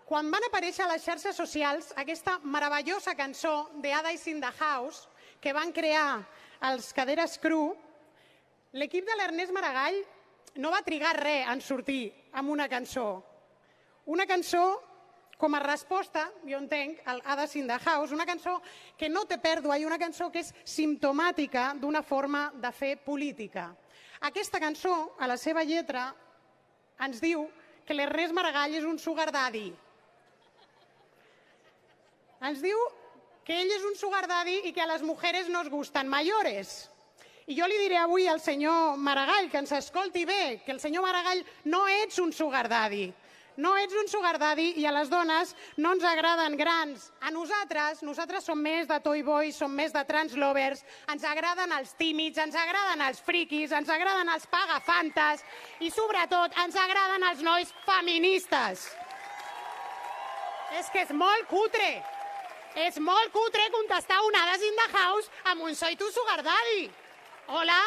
quan van aparèixer a les xarxes socials aquesta meravellosa cançó de Ada in the House que van crear els Caderes Cru, l'equip de l'Ernest Maragall no va trigar res en sortir amb una cançó. Una cançó com a resposta, jo entenc, al Ada in the House, una cançó que no té pèrdua i una cançó que és simptomàtica d'una forma de fer política. Aquesta cançó, a la seva lletra, ens diu que l'Ernest Maragall és un sugar daddy. Ens diu que ell és un sugar daddy i que a les mujeres nos gustan mayores. I jo li diré avui al senyor Maragall, que ens escolti bé, que el senyor Maragall no ets un sugar daddy. No ets un sugar daddy i a les dones no ens agraden grans. A nosaltres som més de toy boys, som més de trans lovers, ens agraden els tímids, ens agraden els friquis, ens agraden els pagafantes i sobretot ens agraden els nois feministes. És que és molt cutre. És molt cutre contestar un Ada in the House amb un soy tu sugar daddy. Hola?